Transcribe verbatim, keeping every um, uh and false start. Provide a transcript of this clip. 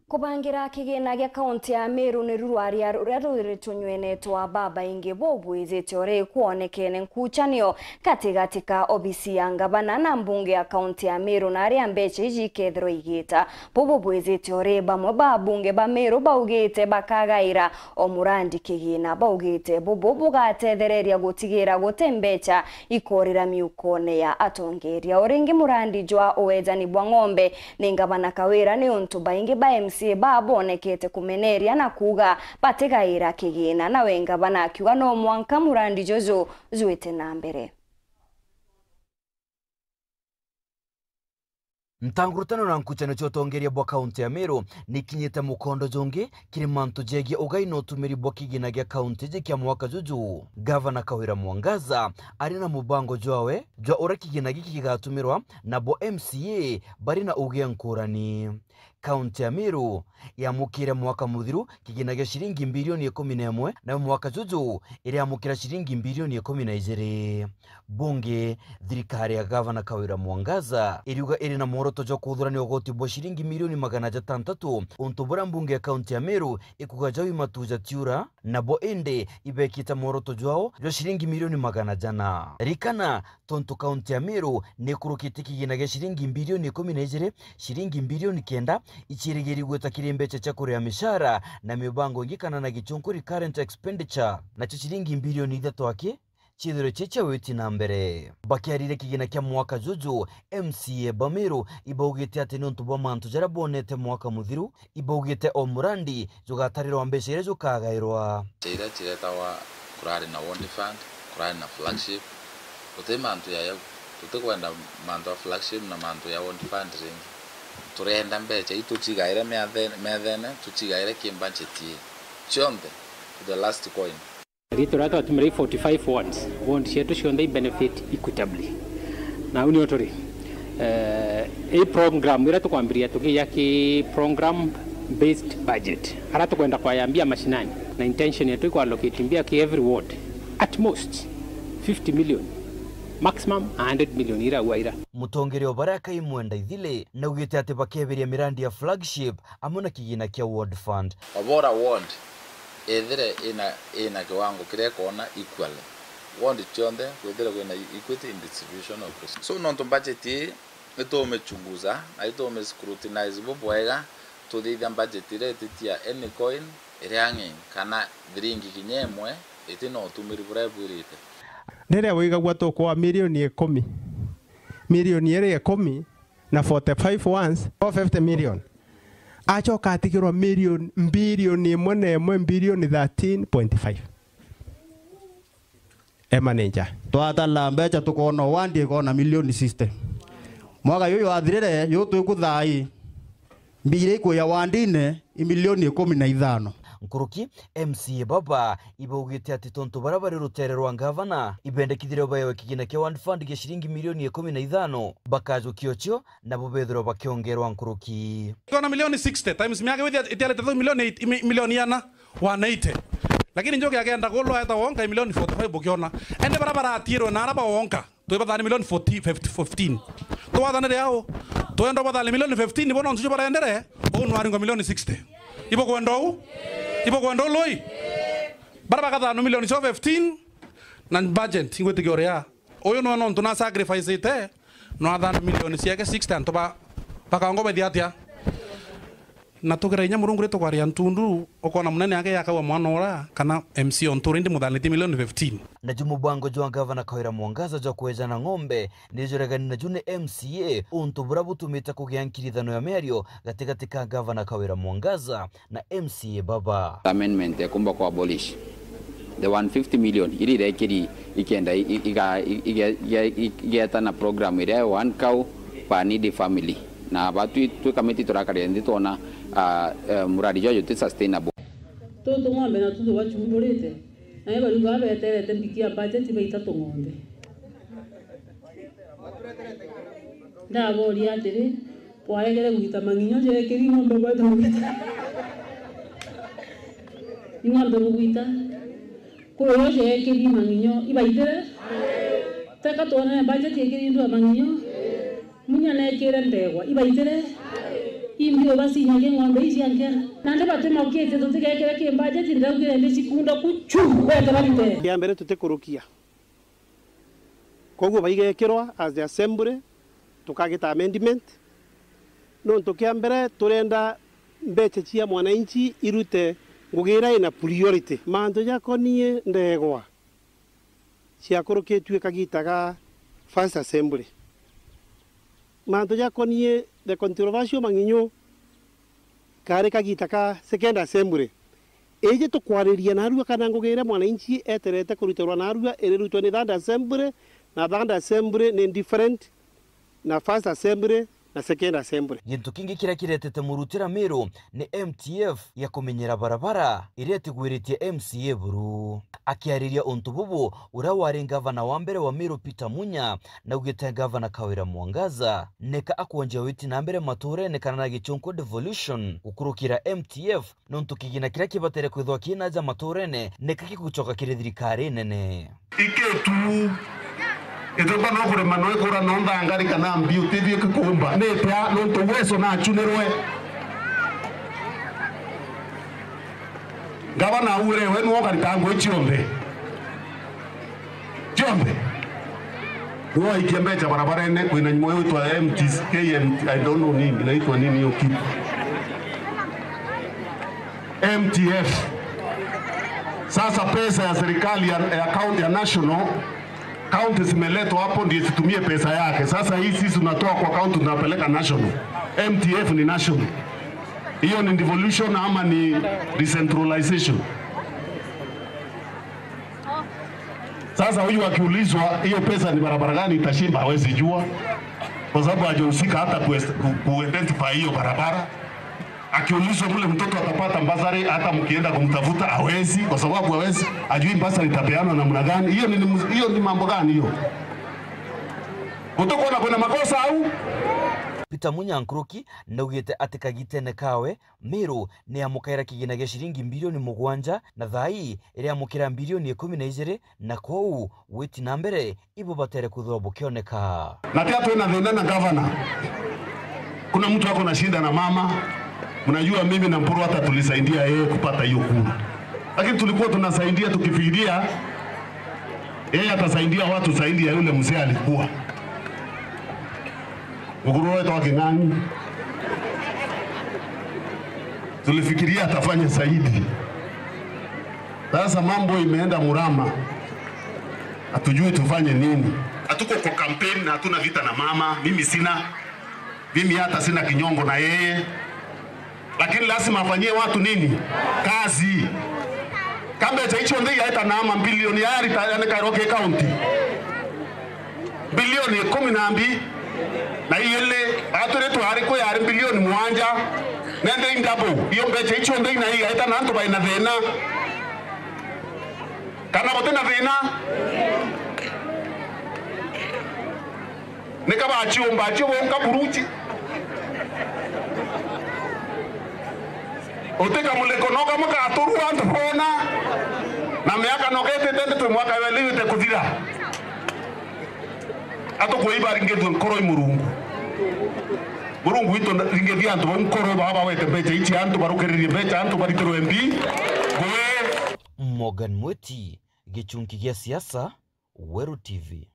Kubangira kigina gia kaunti ya Meru ni rurwaria ruria ruri tunywenetwa babaingi bubwijite uri kwonekene nkuchanio gatigati ka obisi ya ngavana na mbunge ya kaunti ya Meru na aria mbecha iji ikethirwa igita. Bubu bwijite uri bamwe ba abunge ba Meru baugite bakagaira o murandi kigina. Baugite bubu bugatethereria gutigira guti mbecha ikorira miukone ya atongeria. O ringi murandi jwa uwejani bwa ng'ombe ni ngavana Kawira ni untu baingi ba M C A ba bonekete kumeneria na kuuga batigaira kigina. Nawe ngavana akiuga no mwanka murandi juju jwite na mbere. Ntangurutano na nkuchanio cia utongeria bwa kaunti ya Meru ni ikinyite mukondo jungi kiri mantu jegie ugai na utumiri bwa kigina gia kaunti iji kia mwaka juju. Gavana Kawira Mwangaza ari na mubango jwawe jwa uria kigina giki gigatumirwa, nabo M C A bari na ugia nkurani. Kaunti ya Meru yamukire mwaka muthiru kigina gia ciringi mbirioni ikumi na imwe, nayo mwaka juju iriamukira ciringi mbirioni ikumi na ijiri. Bungi, thirikari ya Gavana Kawira Mwangaza iriuga iri na mworoto jwa kuthurania ugoti bwa ciringi milioni magana jatantatu, untu buria mbunge ya kaunti ya Meru ikuga jau i matu jatiura, nabo indi ibekite mworoto jwao jwa ciringi milioni magana jana. Ririkana, tontu kaunti ya Meru ni ikurukite kigina gia ciringi mbirioni ikumi na ijiri, ciringi mbirioni kenda icirigiri gwita kiri mbecha cia kuria mishara na mibango ingi kana na gichunku recurrent expenditure, nacio ciringi mbirioni ithatu aki ciithirwe ci cia witi na mbere. Bakiariria kigina kia mwaka juju, M C A ba Meru ibaugite ati niuntu bwa mantu jaria bonete mwaka muthiru, ibaugite o murandi jugatarirwa mbecha iria jukagairwa. Mbecha iria ciretagwa kurari na ward fund, kurari na flagship, guti mantu ya yau. Tutikwenda mantu ya flagship na mantu ya ward fund ringi. Turenda mbecha ii tucigaire methe-, methene, tucigaire ki budget ii. Cionthe to the last coin. Riitwa riria twatumire i forty-five wards. Ward cietu cionthe i benefit equitably. Na au nio turi. Eh, i program iria tukwambiria tukiya ki program based budget. Aria tukwenda kwaya mbia mashinani. Na intention yetu i ku allocate mbia ki every ward. At most fifty million. Maximum a hundred million ira ua ira. Mutongeria o baria Kaimwenda Ithili naugite ati bakebiria mirandi ya flagship amwe na kigina kia ward fund. Obora ward ethire ina, ina kiwango kiria ikoona equally. Ward cionthe kwithire kwina equity in distribution of resources. So, nontu budget ii itumichunguza na itumiscrutinize bubwega, tuthithia budget iria ititia any coin iria ang'e kana thiringi kinya imwe itina utumiri buria ibwirite. Riria wigagua tukwa milioni ikumi, milioni iri ikumi, na forty-five ones, four fifty million. Acoka atigirwa million, mbilioni imwe na imwe, mbilioni thirteen point five. E manager. Twatara mbecha tukoona wandi ikoona milioni sixty. Mwaka juju wathirire, ju twiku thaai, mbia iria ikuya wandine i milioni ikumi na ithano. Nkuruki, M C A baba ibaugite ati tontu baria bari rutere rwa ngavana ibendekithirio baewe kigina kia ward fund gia ciringi milioni ikumi na ithano, bakajukia ucio nabo bethirwa bakiongerwa nkuruki. Kona milioni sixty times miaka withia itiarite thau milioni eight, mi-, milioni iana, one eighty. Lakini njuki agenda kulwa eta wonka milioni forty-five ukiona. Ende bara baratirwe na araba wonka. Twi bathani milioni forty, fifty, fifteen. Twathanire au. Twenda bathani milioni fifteen, bono ntuju barendere. Uu nwaringwa milioni sixty. Ibo kwenda uu? Ibo kwenda uu lui? Bara bagathano milioni cio fifteen, na budget ingwitikia uria. Uyu nwe nontu na sacrifice ite, no athana milioni ciake sixty, antu ba, bakangwa baithia atia? Na tugira inya Murungu ri tukwaria ntundu, ukona munene ake yakaua mwana ura, kana M C A o nturi, indi muthanitie milioni fifteen. Naju mubango jwa Gavana Kawira Mwangaza jwa kwejana ng'ombe, ni juregani naju ni M C A, untu buria butumite kugia nkirithano ya miario gatigati ka Gavana Kawira Mwangaza na M C A baba. Amendment ya kumba ku abolish the one fifty million iria irekiri ikenda i-, i-, iga-, i-, ige-, ige-, i-, igeta na program iria ya one cow per needy family. Na aba twi, twi kamiti turakaria nthi twona, ah, eh, muradi jwa juti sustainable. Tutu ng'ombe na tutu bachumburite, na ibaruga beterete mbiki ya budget baita tung'ombe. Ndaboria atiri, bwaregere gwita mang'inyo jekiri ng'ombe bweta bugwita? Ni ng'ombe bugwita? Kuri uyo jekiri mang'inyo, ibaitire? Teka twonere budget ikiri ndu ya mang'inyo? Munya nekire ndegwa, ibaitire? Imbi ubacinyagia ng'ombe ici ankera. Nandi batimokite tutigekire ki budget, ndaugire ndi cikunda kuchu, wete barite. Kia mbere tutikurukia. Koguo baigekirwa as the assembly, tukagita amendment. Nontu kia mbere turenda mbecha cia mwananchi irute ngugi iria ina priority. Mantu jakonie ndegwa ciakurukitue kagita ga first assembly. Mantu jakonie the controversial mang'inyu kari kagita ka second assembly. Iji tukwariria narua kana ngugi iria mwananchi eterete kuruterwa narua irirutwe ni third assembly, na third assembly ni different na first assembly na second assembly. Gintu kingi kiria kiretete murutira Miru ni M T F ya kumenyera barabara iria itigwiritie M C A buru. Akiariria untu bubu, uria wari ngavana wa mbere wa Miru Peter Munya naugite ngavana Kawira Mwangaza neka akwonjia witi na mbere maturene kana na gichunku devolution gukurukira M T F, nontu kigina kiria kibatere kwithwa kina aja maturene niki gigucoka kiri thirikari nene. Ikitu ituka no kurima no ikura no nthangari kana mbi utithie kikumba ni tia nontu uwezo nachunirwe. Ngavana aure we nuo ukarita ngui cionthe. Cionthe. Nuo aikia mbecha barabarene kwina nyumo yitwa M T C, K M T, I don't know nini, inaitwa nini hiyo kitu. M T F. Sasa pesa ya serikali ya, ya county ya national, county zimeletwa hapo ndio zitumie pesa yake. Sasa hii sisi tunatoa kwa county tunapeleka national. M T F ni national. Hiyo ni devolution ama ni decentralization? Sasa huyu akiulizwa hiyo pesa ni barabara gani itashimba, hawezi jua kwa sababu hajahusika hata ku, ku, ku identify hiyo barabara. Akiulizwa vile mtoto atapata mbasari, hata mkienda kumtafuta hawezi, kwa sababu hawezi, ajui mbasari itapeanwa namna gani. Hiyo ni, hiyo ni mambo gani hiyo? Gutukwona kwina makosa au? Peter Munya Nkuruki naugite ati kagitene kawe Miru ni yamukaira kigina gia ciringi mbirioni mugwanja na thaa ii iriamukira mbirioni ikumi na ijiri, na kwou witi na mbere ibo batere kwithirwa bukioneka. Na pia twina thina na gavana. Kuna mtu ako na shida na mama. Mnajua mimi na Mpuru hata tulisaidia yeye kupata hiyo kura. Lakini tulikuwa tunasaidia tukifikiria yeye atasaidia watu zaidi ya yule mzee alikuwa. Mukuru wetu wa King'ang'i. Tulifikiria atafanya zaidi. Sasa mambo imeenda murama. Hatujui tufanye nini. Hatuko kwa campaign na hatuna vita na mama. Mimi sina. Mimi hata sina kinyongo na yeye. Lakini lazima afanyie watu nini? Kazi. Kambe cha hicho ndio yaita na ama bilioni yari ta yani Kairoke County. Bilioni ikumi na mbi na ile, atwire twari kwi yari bilioni mwanja, nende in double. Iyo mbecha icio nthei na igaita na antu baina thina. Kana guti na thina? Nika baciumba cio bonka buruji. Utika muliko no kamwe katurua antu bona. Na miaka no ketete ndi twi mwaka weli wite kuthira. Atukwei baringithue nkoro i Murungu. Murungu witu ringithia antu bau nkoro baba bawete mbecha ici antu barukiririe mbecha antu baritirwe mbi. Ngui. Morgan Mweti, Gichunki gia Siasa, Weru T V.